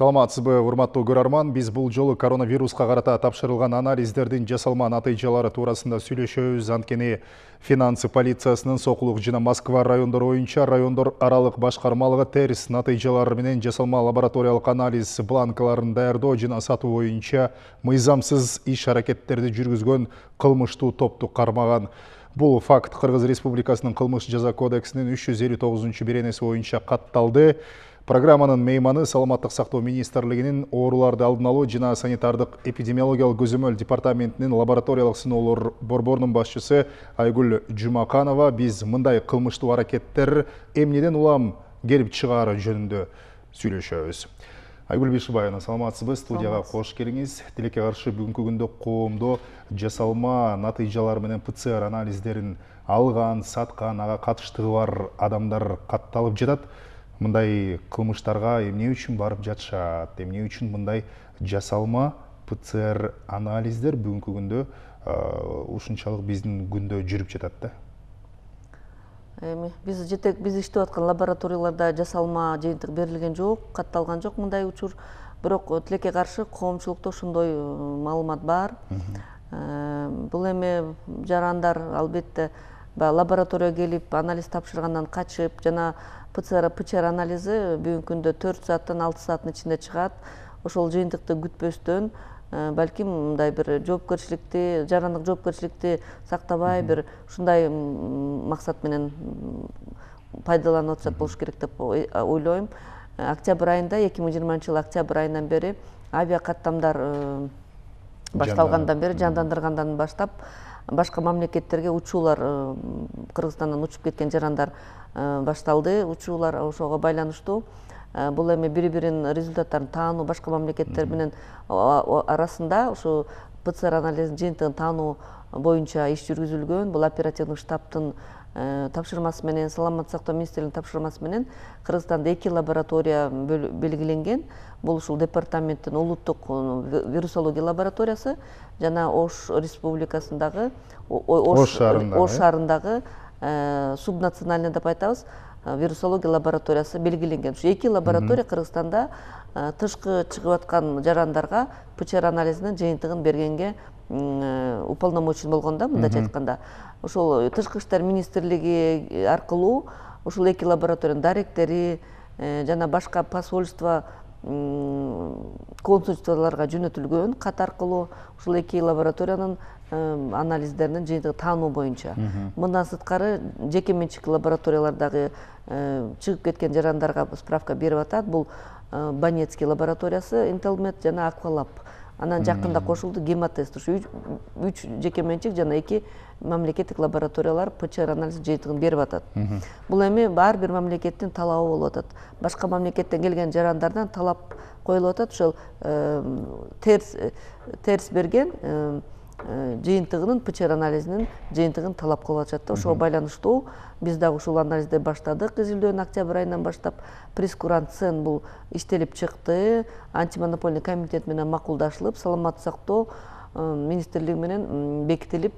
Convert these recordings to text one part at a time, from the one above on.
Саламатсызбы, урматтуу көрөрман. Биз бул жолу коронавируска карата тапшырылган анализдердин жасалма натыйжалары туурасында сүйлөшөбүз. Анткени финансы полициясынын Сокулук жана Москва райондору боюнча райондор аралык башкармалыгы терс натыйжалар менен жасалма лабораториялык анализ бланкаларын даярдоо жана сатуу боюнча мыйзамсыз иш-аракеттерди жүргүзгөн кылмыштуу топту кармаган. Бул факт Кыргыз Республикасынын кылмыш жаза кодексинин 359-беренеси боюнча катталды. Программанын мейманы Саламаттык сактоо министрлигинин ооруларды алдын алуу жана санитардык эпидемиологиялык көзөмөл департаментинин лабораториялык сыноолор борборунун башчысы Айгүл Жумаканова. Биз мындай кылмыштуу аракеттер эмнеден улам келип чыгаары жөнүндө сүйлөшөбүз. Айгүл Бишибаевна, саламатсызбы? Студияга кош келиңиз. Тилекке каршы бүгүнкү күндө коомдо жасалма натыйжалар менен ПЦР анализдерин алган, саткан, ага катыштыгы бар адамдар катталып жатат. Мындай кылмыштарга эмне үчүн барып жатышат? Эмне үчүн мындай жасалма ПЦР анализдер бүгүнкү күндө ушунчалык биздин күндө жүрүп жатат да? Биз иштеп аткан лабораторияларда жасалма жыйынтык берилген жок, катталган жок мындай учур. Бирок тилекке каршы коомчулукта ошондой маалымат бар. Бул эми жарандар албетте лабораторияга келип анализ тапшыргандан качып жана ПЦР анализи бүгүнкү күндө 4 сааттан 6 сааттын ичинде чыгат. Ошол жыйынтыкты күтпөстөн балким мындай бир жоопкерчиликти, жарандык жоопкерчиликти сактабай бир ушундай максат менен пайдаланып атышат болуш керек деп ойлойм. Октябрь айында 2020-жылы октябрь айынан бери авиакаттамдар башталгандан бери, жандандыргандан баштап башка мамлекеттерге учуулар, Кыргызстандан учуп кеткен жарандар башталды. Учуулар ошого байланыштуу. Бул эми бири-биринин результаттарын таануу, башка мамлекеттер менен арасында ушу ПЦР анализин жыйынтыгын таануу боюнча иш жүргүзүлгөн. Бул оперативдик штабтын тапшырмасы менен, Саламаттык сактоо министрлигинин тапшырмасы менен Кыргызстанда 2 лаборатория белгиленген. Бул ушул департаменттин улуттук вирусология лабораториясы жана Ош республикасындагы Ош шаарындагы субнациональный деп айтабыз, вирусология лабораториясы белгиленген. Ушу 2 лаборатория Кыргызстанда тышкы чыгып аткан жарандарга ПЦР анализинин жыйынтыгын бергенге уполномочен болгон да, мындайча айтканда. Ошол Тышкы иштер министрлиги аркылуу ушул 2 лабораториянын даректери жана башка посольство, консульстволорго жөнөтүлгөн кат аркылуу ушул 2 лабораториянын анализдеринин жыйынтыгын таануу боюнча. Мындан сырткары жеке менчик лабораториялардагы чыгып кеткен жарандарга справка берип атат. Бул Банецкий лабораториясы, Интелмед жана Аквалаб. Анан жакында кошулду Гемотест. Ушу 3 жеке менчик жана 2 мамлекеттик лабораториялар ПЦР анализ жыйынтыгын берип атат. Бул эми ар бир мамлекеттин талабы болуп атат. Башка мамлекеттен келген жарандардан талап коюлуп атат. Ошол терс берген жыйынтыгынын ПЦР анализинин жыйынтыгын талап кылып атышат. Ошого байланыштуу биз дагы ушул анализди баштадык. Изилдөөнү октябрь айынан баштап прескурант цен бул иштелип чыкты. Антимонопольный комитет менен макулдашылып, Саламаттык сактоо министрлиги менен бекитилип,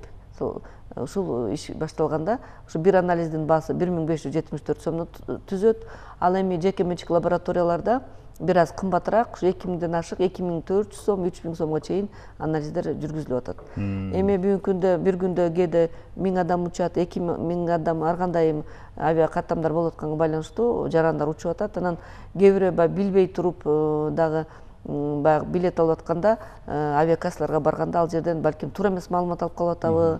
ушул иш башталганда, ушу бир анализдин баасы 1574 сомдон түзөт. Ал эми жеке менчик лабораторияларда бир аз кымбатыраак, ушу 2000ден ашык 2400 сом, 3000 сомго чейин анализдер жүргүзүлүп атат. Эми бүгүнкү күндө бир күндө кээде 1000 адам учат, 2000 адам ар кандай авиакаттамдар болуп атканга байланыштуу жарандар учуп атат. Анан кээ бирөө билбей туруп дагы баягы билет алып атканда авиакассаларга барганда ал жерден балким туура эмес маалымат алып калып атабы,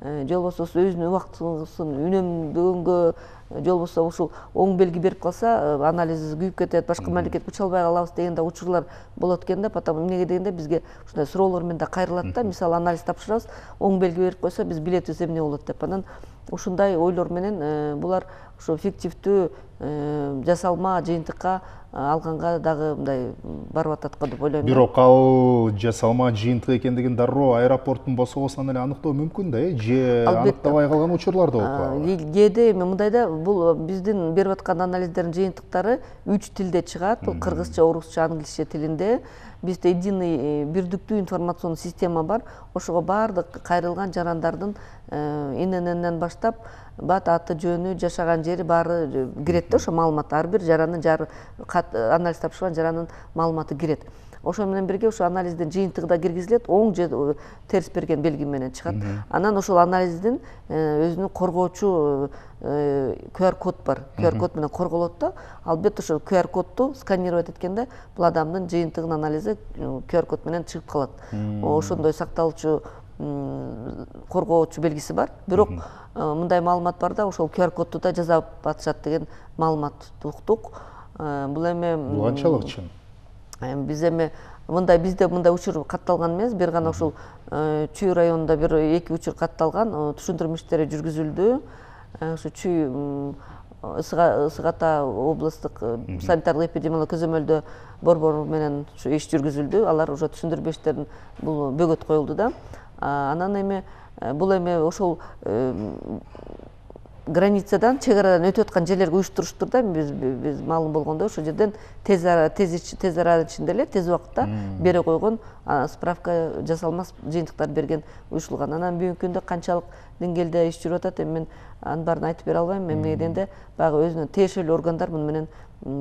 же болбосо өзүнүн убактысын үнөмдөгөнгө, же болбосо ушул оң белги берип калса анализ күйүп кетет, башка мамлекетке уча албай калабыз деген да учурлар болот экен да. Потому эмнеге дегенде бизге ушундай суроолор менен да кайрылат да. Мисалы анализ тапшырабыз, оң белги берип койсо биз билетибиз эмне болот деп. Анан ушундай ойлор менен булар ушу фиктивдүү жасалма жыйынтыкка алганга дагы мындай барып атат го деп ойлойм. Бирок ал жасалма жыйынтык экендигин дароо аэропорттун босогосунан эле аныктоо мүмкүн да, же аныктабай калган учурлар да болуп калат. Кээде эми мындай да, бул биздин берип аткан анализдердин жыйынтыктары 3 тилде чыгат. Бул кыргызча, орусча, англисче тилинде. бизде единый бирдиктүү информационный система бар. Ошого баардык кайрылган жарандардын ИННнен баштап бат аты жөнү, жашаган жери баары кирет да, ошо маалымат ар бир жарандын анализ тапшырган жарандын маалыматы кирет. Ошо менен бирге ошо анализдин жыйынтыгы да киргизилет, оң же терс берген белги менен чыгат. Анан ошол анализдин өзүнүн коргоочу QR код бар. QR код менен корголот да. Албетте ошол QR кодду сканировать эткенде бул адамдын жыйынтыгынын анализи QR код менен чыгып калат. Ошондой сакталчу коргоочу белгиси бар. Бирок мындай маалымат бар да, ошол QR кодду да жасап атышат деген маалымат уктук. Бул эми бул канчалык чын? Биз эми бизде мындай учур катталган эмес, бир гана ушул Чүй районунда бир 2 учур катталган, түшүндүрмө иштери жүргүзүлдү. Ушу Чүй Ысык Ата областтык санитардык эпидемиологиялык көзөмөлдөө борбору менен иш жүргүзүлдү. Алар уже түшүндүрмө иштерин бул бөгөт коюлду да. Анан эми бул эми ошол границадан, чек арадан өтүп аткан жерлерге уюштуруштур да. Биз маалым болгондой ошол жерден тез аранын ичинде эле тез убакытта бере койгон, справка жасалмас жыйынтыктар берген уюшулган. Анан бүгүнкү күндө канчалык деңгээлде иш жүрүп атат, эми мен анын баарын айтып бере албайм. Эмне дегенде баягы өзүнүн тиешелүү органдар муну менен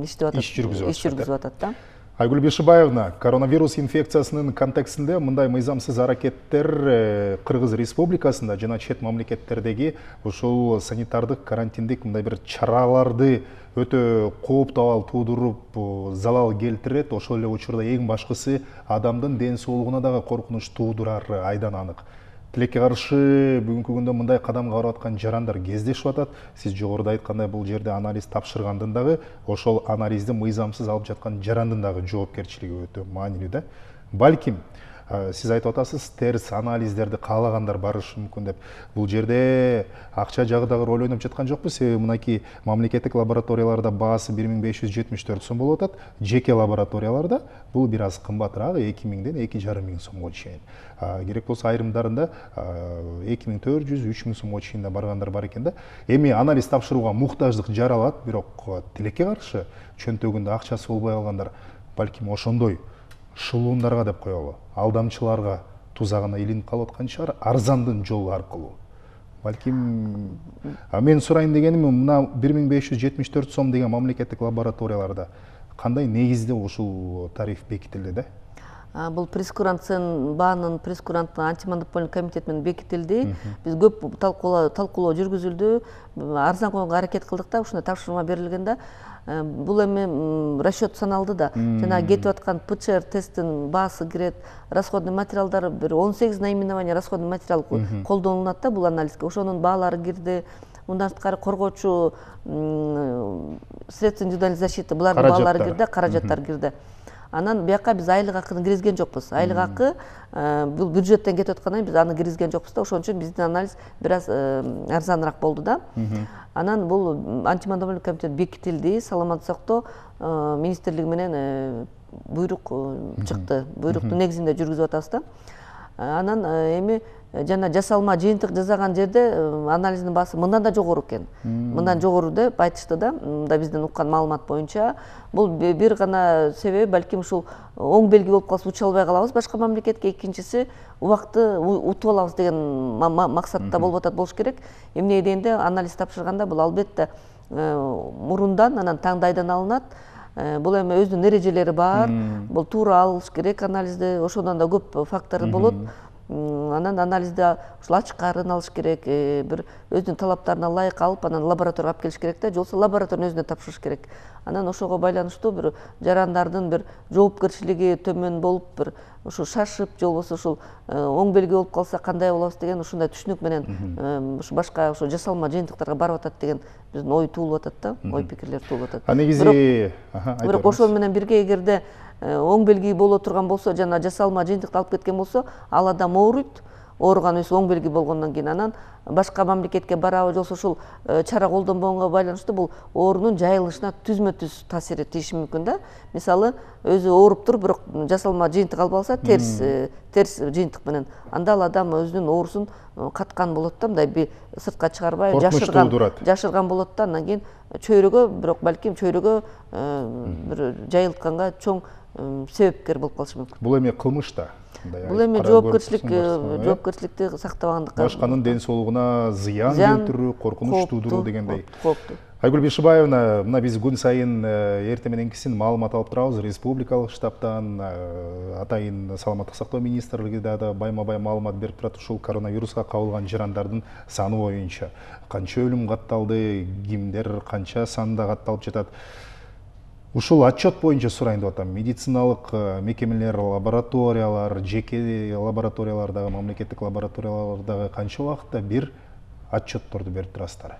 иштеп атат, иш жүргүзүп атат да. Айгүл Бешибаевна, коронавирус инфекциясынын контекстинде мындай мыйзамсыз аракеттер Кыргыз Республикасында жана чет мамлекеттердеги ушул санитардык карантиндик мындай бир чараларды өтө кооптуу абал туудуруп, залал келтирет. Ошол эле учурда эң башкысы адамдын ден соолугуна дагы коркунуч туудурары айдан анык. Тилекке каршы бүгүнкү күндө мындай кадамга барып аткан жарандар кездешип атат. Сиз жогоруда айткандай бул жерде анализ тапшыргандын дагы, ошол анализди мыйзамсыз алып жаткан жарандын дагы жоопкерчилиги өтө маанилүү да. Балким сиз айтып атасыз, терс анализдерди каалагандар барышы мүмкүн деп. Бул жерде акча жагы дагы роль ойноп жаткан жокпу? Себеби мынакей мамлекеттик лабораторияларда баасы 1574 сом болуп атат, жеке лабораторияларда бул бир аз кымбатыраак, 2000ден 2500 сомго чейин. Керек болсо айрымдарында 2400-3000 сомго чейин да баргандар бар экен да. Эми анализ тапшырууга муктаждык жаралат, бирок тилекке каршы чөнтөгүндө акчасы болбой калгандар балким ошондой шылуундарга деп коелу, алдамчыларга тузагына илинип калып аткан чыгар, арзандын жолу аркылуу. Балким мен сурайын дегеним, мына 1574 сом деген мамлекеттик лабораторияларда кандай негизде ушул тариф бекитилди да? Бул прескуранттын баанын прескуранттын антимонопольный комитет менен бекитилди. Биз көп талкуулоо жүргүзүлдү, арзан койгонго аракет кылдык да, ушундай тапшырма берилгенде бул эми расчет саналды да. Жана кетип аткан ПЦР тесттин баасы кирет, расходный материалдар бир 18 наименование расходный материал колдонулат да бул анализге. Ошонун баалары кирди. Мындан сырткары коргоочу средства индивидуальной защиты булардын баалары кирди, каражаттар кирди. Анан бияка биз айлык акыны киргизген жокпуз. Айлык акы бул бюджеттен кетип аткандан биз аны киргизген жокпуз да. Ошон үчүн биздин анализ бир аз арзаныраак болду да. Анан бул антимонопольный комитет бекитилди, саламаттык сактоо министрлиги менен буйрук чыкты. Буйруктун негизинде жүргүзүп атабыз да. Анан эми жана жасалма жыйынтык жасаган жерде анализдин баасы мындан да жогору экен. Мындан жогору деп айтышты да. Мында биздин уккан маалымат боюнча бул бир гана себеби балким ушул оң белги болуп калса уча албай калабыз башка мамлекетке, экинчиси убакытты утуп алабыз деген максатта болуп атат болуш керек. Эмне дегенде анализ тапшырганда бул албетте мурундан анан таңдайдан алынат. Бул эми өзүнүн эрежелери бар. Бул туура алыш керек анализди, ошондон да көп фактор болот. Анан анализде ушул ачкарын алыш керек, бир өзүнүн талаптарына ылайык алып, анан лабораторияга алып келиш керек да, жолсо лабораториянын өзүнө тапшырыш керек. Анан ошого байланыштуу бир жарандардын бир жоопкерчилиги төмөн болуп, бир ушул шашып, же болбосо ушул оң белги болуп калса кандай болобуз деген ушундай түшүнүк менен ушу башка ошо жасалма жыйынтыктарга барып атат деген биздин ой туулуп атат да, ой пикирлер туулуп атат. А негизи бирок ошол менен бирге эгерде оң белги боло турган болсо, жана жасалма жыйынтыкты алып кеткен болсо, ал адам ооруйт. Ооруган өзү оң белги болгондон кийин анан башка мамлекетке барабы, же болбосо ушул чара колдонбогонго байланыштуу бул оорунун жайылышына түзмө-түз таасир этиши мүмкүн да. Мисалы, өзү ооруп туруп, бирок жасалма жыйынтык алып алса, терс жыйынтык менен, анда ал адам өзүнүн оорусун каткан болот да, мындай сыртка чыгарбай, жашырган болот да. Андан кийин чөйрөгө, бирок балким чөйрөгө бир жайылтканга чоң себепкер болуп калышы мүмкүн. Бул эми кылмыш да. Бул эми жоопкерчиликти сактабагандыкка, башканын ден соолугуна зыян келтирүү, коркунуч туудуруу дегендей. Кооптуу. Айгүл Бейшибаевна, мына биз күн сайын эртең мененкисин маалымат алып турабыз. Республикалык штабтан, атайын саламаттык сактоо министрлиги да байма-бай маалымат берип турат. Ушул коронавируска кабылган жарандардын саны боюнча канча өлүм катталды, кимдер канча санда катталып жатат. Ушул отчет боюнча сурайын деп атам. Медициналык мекемелер, лабораториялар, жеке лабораториялардагы, мамлекеттик лабораториялардагы канча убакытта бир отчетторду берип турасыздар?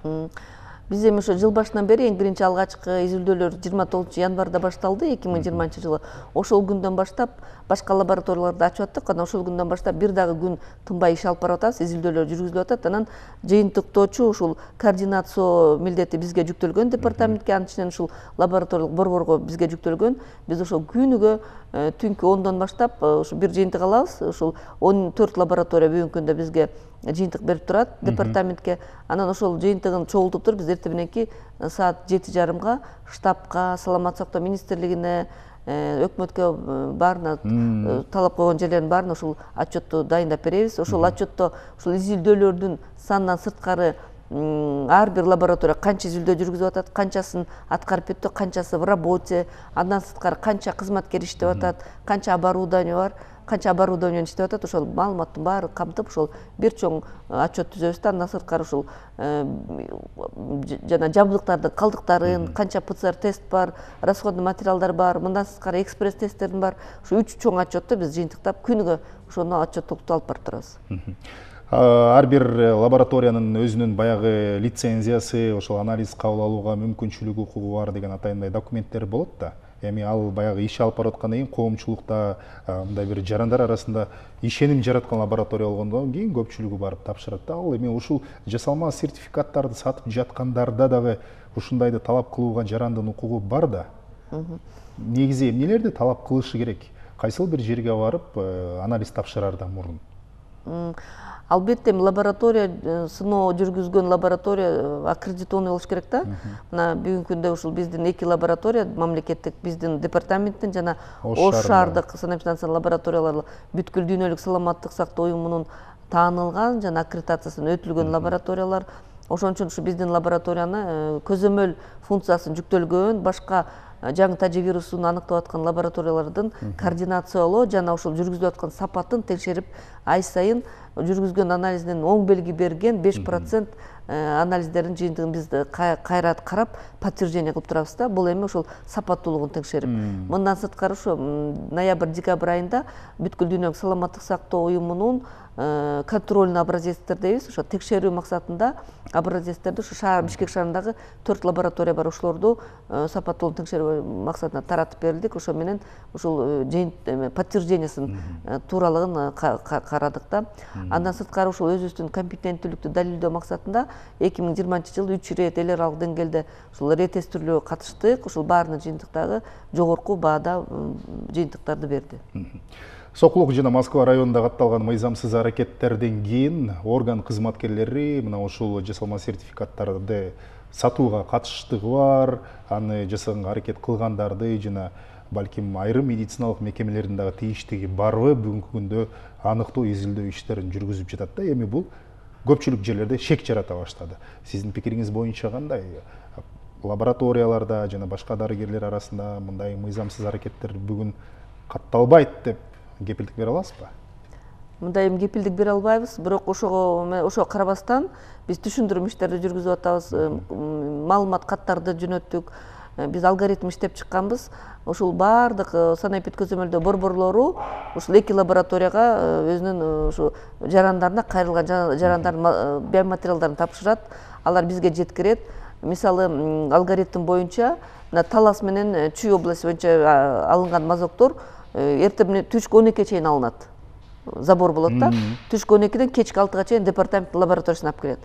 Биз эми ошо жыл башынан бери эң биринчи алгачкы изилдөөлөр 29 январда башталды, 2020 жылы. Ошол күндөн баштап башка лабораторияларды ачып аттык. Анан ошол күндөн баштап бир дагы күн тынбай иш алып барып атабыз, изилдөөлөр жүргүзүлүп атат. Анан жыйынтыктоочу ушул координацио милдети бизге жүктөлгөн департаментке, анын ичинен ушул лабораториялык борборго бизге жүктөлгөн. Биз ошол күнүгө түнкү 10дон баштап ушу бир жыйынтык алабыз. Ушул 14 лаборатория бүгүнкү күндө бизге жыйынтык берип турат департаментке. Анан ошол жыйынтыгын чогултуп туруп биз эртең мененки саат 7:30 штабка, саламаттык сактоо министрлигине, өкмөткө баарына талап койгон жерлердин баарына ушул отчетту дайындап беребиз. Ошол отчетто ушул изилдөөлөрдүн санынан сырткары ар бир лаборатория канча изилдөө жүргүзүп атат, канчасын аткарып бүттү, канчасы в работе, андан сырткары канча кызматкер иштеп атат, канча оборудование бар, канча оборудование иштеп атат, ошол маалыматтын баары камтып ошол бир чоң отчет түзөбүз да. Андан сырткары ушул жана жабдыктардын калдыктарын, канча ПЦР тест бар, расходный материалдар бар, мындан сырткары экспресс тесттердин бар. Ушу 3 чоң отчетту биз жыйынтыктап күнүгө ошону отчеттокту алып барып турабыз. Ар бир лабораториянын өзүнүн баягы лицензиясы, ошол анализ кабыл алууга мүмкүнчүлүгү, укугу бар деген атайындай документтер болот да. Эми ал баягы иш алып барып аткандан кийин коомчулукта мындай бир жарандар арасында ишеним жараткан лаборатория болгондон кийин көпчүлүгү барып тапшырат да. Ал эми ушул жасалма сертификаттарды сатып жаткандарда дагы ушундайды талап кылууга жарандын укугу бар да. Негизи эмнелерди талап кылышы керек? Кайсыл бир жерге барып анализ тапшырардан мурун? Албетте лаборатория, сыноо жүргүзгөн лаборатория аккредитованный болуш керек да. Мына бүгүнкү күндө ушул биздин 2 лаборатория, мамлекеттик биздин департаменттин жана Ош шаардык санэпидстанциянын лабораториялары бүткүл дүйнөлүк саламаттык сактоо уюмунун таанылган жана аккредитациясынан өтүлгөн лабораториялар. Ошон үчүн ушу биздин лабораторияны көзөмөл функциясын жүктөлгөн, башка жаңы таживирусун аныктап аткан лабораториялардын координациялоо жана ошол жүргүзүлүп аткан сапатын текшерип, ай сайын жүргүзгөн анализдин оң белги берген 5% анализдердин жыйынтыгын биз кайра карап подтверждение кылып турабыз да. Бул эми ошол сапаттуулугун текшерип. Мындан сырткары ушу ноябрь-декабрь айында бүткүл дүйнөлүк саламаттык сактоо уюмунун контрольный образецтер дейбиз, ошо текшерүү максатында образецтерди ушу шаар Бишкек шаарындагы 4 лаборатория бар, ошолорду сапаттуулугун текшерүү максатында таратып берилдик. Ошо менен ушул подтверждениясын тууралыгын карадык да. Андан сырткары ушул өзүбүздүн компетенттүүлүктү далилдөө максатында 2020 жылы 3 ирет эл аралык деңгээлде ушул ретестирлөө катыштык. Ушул баарынын жыйынтыктагы жогорку баада жыйынтыктарды берди. Сокулук жана Москва районунда катталган мыйзамсыз аракеттерден кийин орган кызматкерлери мына ушул жасалма сертификаттарды сатууга катыштыгы бар, аны жасаганга аракет кылгандарды жана балким айрым медициналык мекемелердин дагы тийиштиги барбы бүгүнкү күндө аныктоо изилдөө иштерин жүргүзүп жатат да. Эми бул көпчүлүк жерлерде шек жарата баштады. Сиздин пикириңиз боюнча кандай? Лабораторияларда жана башка дарыгерлер арасында мындай мыйзамсыз аракеттер бүгүн катталбайт деп кепилдик бере аласызбы? Мындай кепилдик бере албайбыз, бирок ошого карабастан биз түшүндүрүм иштерди жүргүзүп атабыз, маалымат каттарды жөнөттүк, биз алгоритм иштеп чыкканбыз. Ушул баардык санэпид көзөмөлдөө борборлору ушул 2 лабораторияга өзүнүн ушу жарандарына кайрылган жарандардын биоматериалдарын тапшырат, алар бизге жеткирет. Мисалы алгоритм боюнча Талас менен Чүй области боюнча алынган мазоктор эртең түшкү 12-ге чейин алынат. Забор болот да. Түшкү 12-ден кечки 6-га чейин департамент лабораториясына алып келет.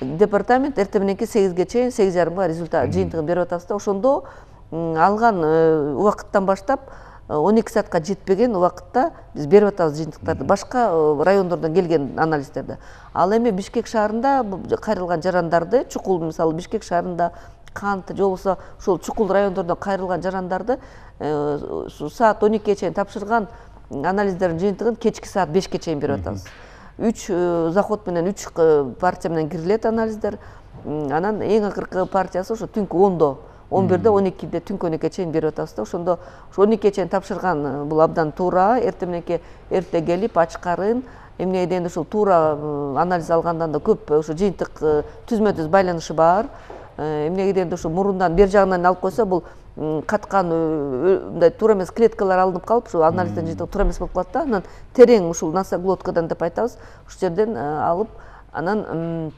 Департамент эртең мененки 8-ге чейин 8:30 результат жыйынтыгын берип атабыз да. Ошондо алган убакыттан баштап 12 саатка жетпеген убакытта биз берип атабыз жыйынтыктарды, башка райондордон келген анализдерди. Ал эми Бишкек шаарында кайрылган жарандарды, чукул мисалы Бишкек шаарында Кант же болбосо ушул чукул райондордон кайрылган жарандарды саат 12-ге чейин тапшырган анализдердин жыйынтыгын кечки саат 5-ке чейин берип атабыз. 3 заход менен 3 партия менен кирилет анализдер. Анан эң акыркы партиясы ошо түнкү 10-до, 11-де, 12-де, түнкү 12-ге чейин берип атабыз да. Ошондо 12-ге чейин тапшырган бул абдан туура. Эртең мененки эрте келип ачкарын, эмнеге дегенде ушул туура анализ алгандан да көп ошо жыйынтык түзмө-түз байланышы бар. Эмнеге дегенде ошо мурундан бер жагынан алып койсо бул каткан мындай туура эмес клеткалар алынып калып, ушу анализдин жыйынтыгы туура эмес болуп калат да. Анан терең ушул носоглоткадан деп айтабыз, ушул жерден алып, анан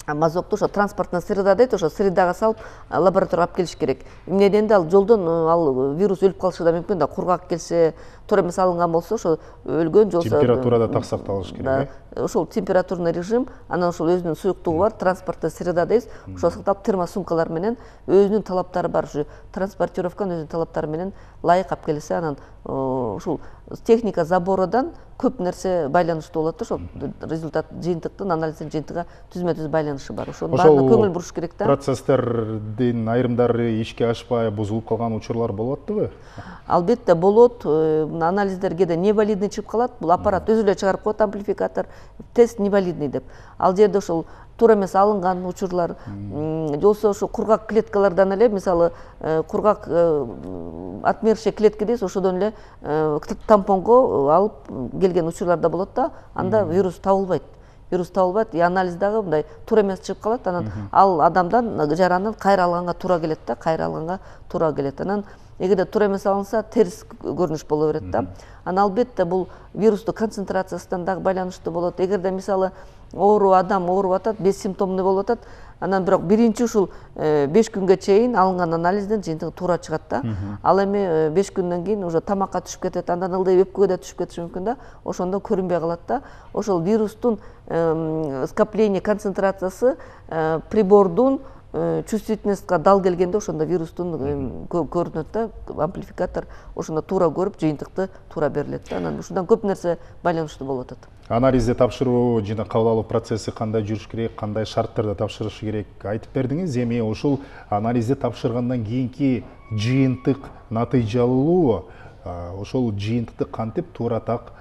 мазокту ошо транспортный среда дейт, ошо средага салып лабораторияга алып келиш керек. Эмне дегенде ал жолдон ал вирус өлүп калышы да мүмкүн да, кургак келсе, туура эмес алынган болсо ошо өлгөн, жолсо температурада так сакталыш керек. Ошол температурный режим, анан ошол өзүнүн суюктугу бар, транспортный среда дейбиз. Ошо сакталып термосумкалар менен өзүнүн талаптары бар, ушу транспортировканын өзүнүн талаптары менен ылайык алып келсе, анан ушул техника забородан көп нерсе байланыштуу болот да, ошол результат жыйынтыктын, анализдин жыйынтыгы түзмө-түз байланышы бар. Ошонун баарына көңүл буруш керек да. Процесстердин айрымдары ишке ашпай, бузулуп калган учурлар болуп атпыбы? Албетте болот. Анализдер кээде невалидный чыгып калат. Бул аппарат өзү эле чыгарып коет, амплификатор, тест невалидный деп. Ал жерде ошол туура эмес алынган учурлар, жолсо ошо кургак клеткалардан эле, мисалы кургак отмершие клетки дейбиз, ошодон эле тампонго алып келген учурлар да болот да, анда вирус табылбайт. Вирус табылбайт, анализ дагы мындай туура эмес чыгып калат, анан ал адамдан жаранын кайра алганга туура келет да, кайра алганга туура келет. Анан эгерде туура эмес алынса, терс көрүнүш боло берет да. Анан албетте бул вирустун концентрациясынан дагы байланыштуу болот. Эгерде мисалы адам ооруп атат, бессимптомный болуп атат, анан бирок биринчи ушул 5 күнгө чейин алынган анализдин жыйынтыгы туура чыгат да. Ал эми 5 күндөн кийин уже тамакка түшүп кетет, андан ылдый өпкөгө да түшүп кетиши мүмкүн да. Ошондо көрүнбөй калат да. Ошол вирустун скопление концентрациясы прибордун чувствительностька дал келгенде ошондо вирустун көрүнөт да, амплификатор ошондо туура көрүп жыйынтыкты туура берилет да. Анан ушундан көп нерсе байланыштуу болуп атат. Анализди тапшыруу жана кабыл алуу процесси кандай жүрүш керек, кандай шарттарда тапшырыш керек айтып бердиңиз. Эми ушул анализди тапшыргандан кийинки жыйынтык натыйжалуу, ошол жыйынтыкты кантип туура так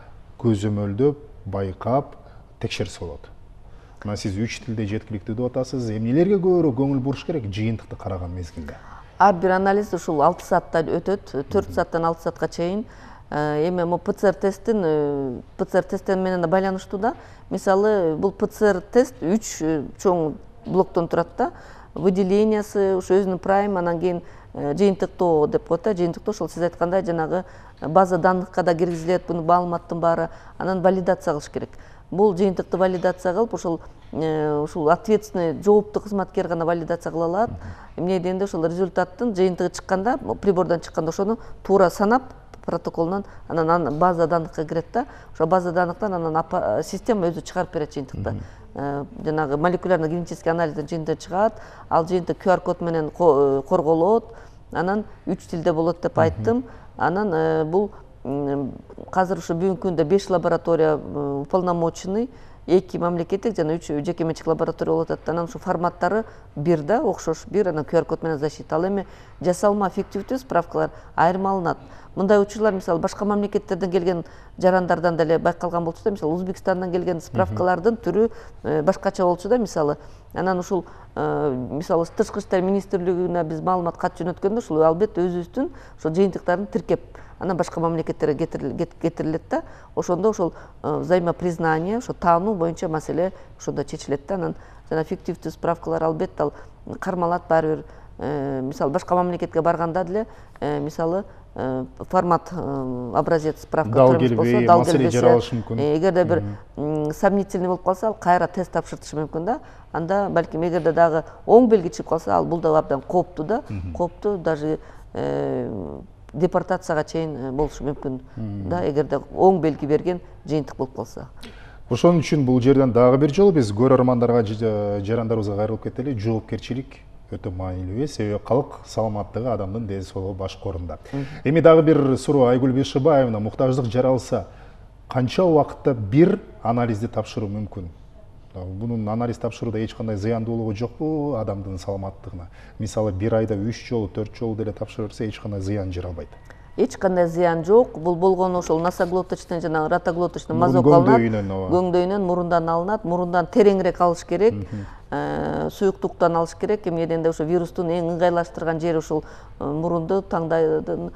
көзөмөлдөп, байкап текшерсе болот? Мына сиз 3 тилде жеткиликтүү деп атасыз. Эмнелерге көбүрөөк көңүл буруш керек жыйынтыкты караган мезгилде? Ар бир анализ ушул 6 саатта өтөт, 4 сааттан 6 саатка чейин. Эми ПЦР тесттен менен да байланыштуу да. Мисалы, бул ПЦР тест 3 чоң блоктон турат да. Выделениясы, ошо өзүнүн прайм, анан кийин жыйынтыктоо деп коет да. Жыйынтыктоо ошол сиз айткандай жанагы база данныхка да киргизилет, бунун маалыматтын баары, анан валидация кылыш керек. Бул жыйынтыкты валидация кылып, ушул ответственный жооптуу кызматкер гана валидация кыла алат. Эмне дегенде ошол результаттын жыйынтыгы чыкканда, прибордон чыкканда ошону туура санап, протоколунан анан база данныхка кирет да. Ошо база данныктан анан система өзү чыгарып берет жыйынтыкты. Жанагы молекулярно генетический анализдин жыйынтыгы чыгат, ал жыйынтык QR код менен корголот, анан 3 тилде болот деп айттым. Анан бул азыр ушу бүгүнкү күндө 5 лаборатория уполномоченный, 2 мамлекеттик жана 3 жеке менчик лаборатория болуп атат. Анан ушу форматтары бир да, окшош бир, анан QR код менен защита. Ал эми жасалма фиктивдүү справкалар айрым алынат. Мындай учурлар мисалы башка мамлекеттерден келген жарандардан деле байкалган болчу да, мисалы Өзбекстандан келген справкалардын түрү башкача болчу да, мисалы. Анан ушул мисалы Тышкы иштер министрлигине биз маалымат кат жөнөткөндө ушул албетте өзүбүздүн ошол жыйынтыктарын тиркеп, анан башка мамлекеттерге кетирилет да. Ошондо ошол взаимопризнание, ошо таануу боюнча маселе ошондо чечилет да. Анан жана фиктивдүү справкалар албетте ал кармалат баары бир. Мисалы башка мамлекетке барганда деле мисалы формат образец справка турмуш болсо, дал келбесе, эгерде бир сомнительный болуп калса, ал кайра тест тапшыртышы мүмкүн да. Анда балким эгерде дагы оң белги чыгып калса, ал бул да абдан кооптуу да. Кооптуу, даже депортацияга чейин болушу мүмкүн да, эгерде оң белги берген жыйынтык болуп калса. Ошон үчүн бул жерден дагы бир жолу биз көрөрмандарга, жарандарыбызга кайрылып кетели. Жоопкерчилик өтө маанилүү, себеби калк саламаттыгы адамдын ден соолугу башкы орунда. Эми дагы бир суроо, Айгүл Бейшибаевна, муктаждык жаралса канча убакытта бир анализди тапшыруу мүмкүн? Бунун анализ тапшырууда эч кандай зыяндуулугу жокпу адамдын саламаттыгына? Мисалы 1 айда 3 жолу 4 жолу деле тапшырса эч кандай зыян жаралбайт. Эч кандай зыян жок. Бул болгону ошол носоглоточный жана ротоглоточный мазок алынат. Көңдөйүнөн, мурундан алынат. Мурундан тереңирээк алыш керек. Суюктуктан алыш керек. Эми эденде ошо вирустун эң ыңгайлаштырган жери ушул мурунду, таңдайдын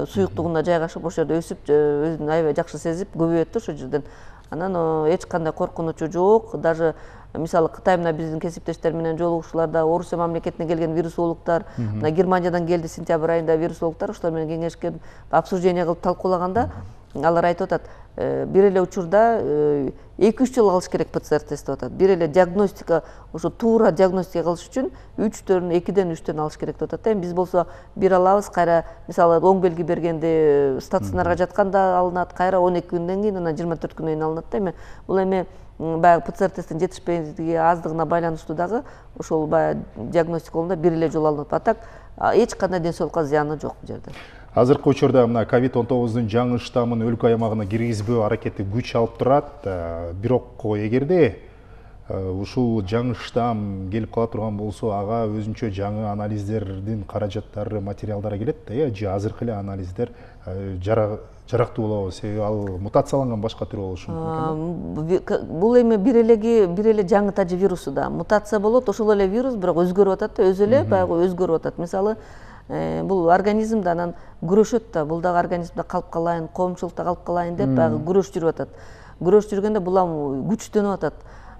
суюктугуна жайгашып, ошол жерде өсүп, өзүн аябай жакшы сезип, көбөйөт ошол жерден. Анан эч кандай коркунучу жок. Даже мисалы Кытай менен биздин кесиптештер менен жолугушууларда Орусия мамлекетине келген вирусологдор, мына Германиядан келди сентябрь айында вирусологдор, ошолор менен кеңешке обсуждение кылып талкуулаганда алар айтып атат, бир эле учурда 2-3 жыл алыш керек ПЦР тест деп атат. Бир эле диагностика, ошо туура диагностика кылыш үчүн 2-ден 3 алыш керек деп атат. Эми биз болсо бир алабыз, кайра мисалы оң белги бергенде стационарга жатканда алынат, кайра 12 күндөн кийин, анан 24 күндөн кийин алынат да. Эми бул эми баягы ПЦР тесттин жетишпейлиги, аздыгына байланыштуу дагы ошол баягы диагностика болгондо бир эле жолу алынат. Атак эч кандай ден соолукка зыяны жок бул жерде. Азыркы учурда мына COVID-19 жаңы штаммын өлкө аймагына киргизбөө аракети күч алып турат. Бирок эгерде ушул жаңы штамм келип кала турган болсо, ага өзүнчө жаңы анализдердин каражаттары, материалдары келет да, же азыркы эле анализдер жарактуу болобу? Себеби ал мутацияланган башка түрү болушу мүмкүн. Бул эми бир эле жаңы тажы вирусу да. Мутация болот, ошол эле вирус, бирок өзгөрүп атат да, өзү эле баягы өзгөрүп атат. Мисалы, бул организмде анан күрөшөт да, бул дагы организмде калып калайын, коомчулукта калып калайын деп баягы күрөш жүрүп атат. Күрөш жүргөндө бул күчтөнүп атат.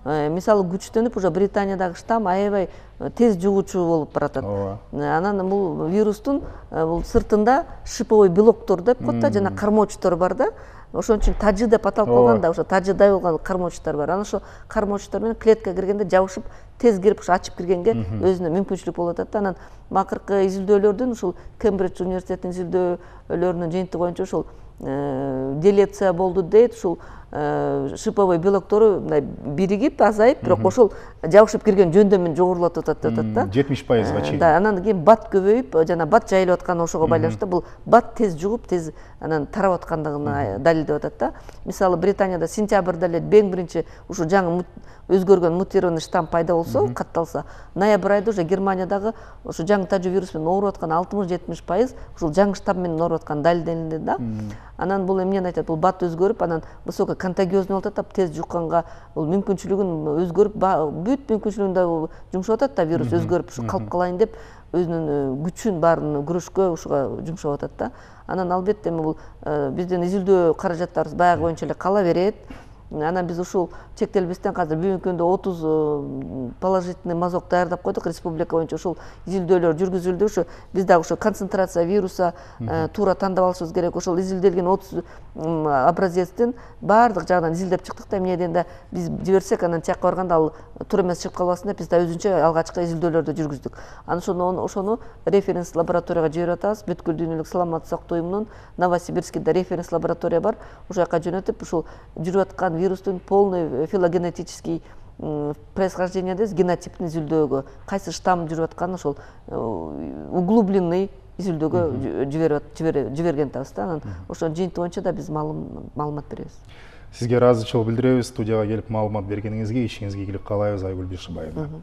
Мисалы күчтөнүп, уже Британиядагы штамм аябай тез жугуучу болуп баратат. Анан бул вирустун бул сыртында шиповой белоктор деп коет да, жана кармоочтор бар да. Ошон үчүн тажы деп аталып калган да, ошо тажыдай болгон кармоочтор бар. Анан ошо кармоочтор менен клеткага киргенде жабышып, тез кирип, ошо ачып киргенге өзүнө мүмкүнчүлүк болуп атат да. Анан акыркы изилдөөлөрдүн, ушул Кембридж университетинин изилдөөлөрүнүн жыйынтыгы боюнча ушул делеция болду дейт, ушул шиповой белоктору биригип, азайып, бирок ошол жабышып кирген жөндөмүн жогорулатып атат деп атат да. 70%га чейин. Да, анан кийин бат көбөйүп, жана бат жайылып аткан ошого байланыштуу бул бат тез жугуп, тез анан тарап аткандыгына далилдеп атат да. Мисалы Британияда сентябрда эле эң биринчи ушу жаңы өзгөргөн мутированный штамм пайда болсо, катталса, ноябрь айда уже Германиядагы ошо жаңы тажы вирус менен ооруп аткан 60-70% ушул жаңы штамм менен ооруп аткан далилденди да. Анан бул эмнени айтат? Бул бат өзгөрүп, анан высоко контагиозный болуп атат, тез жукканга бул мүмкүнчүлүгүн өзгөрүп, бүт мүмкүнчүлүгүн да жумшап атат да, вирус өзгөрүп, ушу калып калайын деп өзүнүн күчүн баарын күрөшкө ушуга жумшап атат да. Анан албетте эми бул биздин изилдөө каражаттарыбыз баягы боюнча эле кала берет. Анан биз ушул чектелбестен азыр бүгүнкү күндө 30 положительный мазок даярдап койдук республика боюнча. Ушул изилдөөлөр жүргүзүлдү. Ушу биз дагы ошо концентрация вируса туура тандап алышыбыз керек. Ошол изилделген 30 образецтин баардык жагынан изилдеп чыктык да. Эмне дегенде биз жиберсек, анан тияка барганда ал туура эмес чыгып калбасын деп биз да өзүнчө алгачкы изилдөөлөрдү жүргүздүк. Анан ошону референс лабораторияга жиберип атабыз. Бүткүл дүйнөлүк саламаттык сактоо уюмунун Новосибирскиде референс лаборатория бар. Ошол жака жөнөтүп, ушул жүрүп аткан вирустун полный филогенетический происхождение дейбиз, генотиптин изилдөөгө, кайсы штамм жүрүп атканын ошол углубленный изилдөөгө жиберген атабыз да. Анан ошонун жыйынтыгы боюнча да биз маалымат беребиз. Сизге ыраазычылык билдиребиз, студияга келип маалымат бергениңизге, ишиңизге ийгилик каалайбыз, Айгүл Бишибаевна.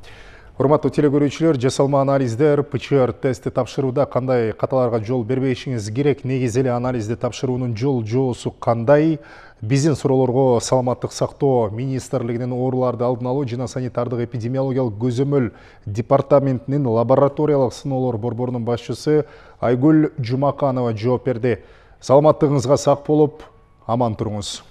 Урматтуу телекөрүүчүлөр, жасалма анализдер, ПЦР тести тапшырууда кандай каталарга жол бербешиңиз керек? Негизи эле анализди тапшыруунун жоосу кандай? Биздин суроолорго Саламаттык сактоо министрлигинин ооруларды алдын алуу жана санитардык эпидемиологиялык көзөмөл департаментинин лабораториялык сыноолор борборунун башчысы Айгүл Жумаканова жооп берди. Саламаттыгыңызга сак болуп, аман туруңуз.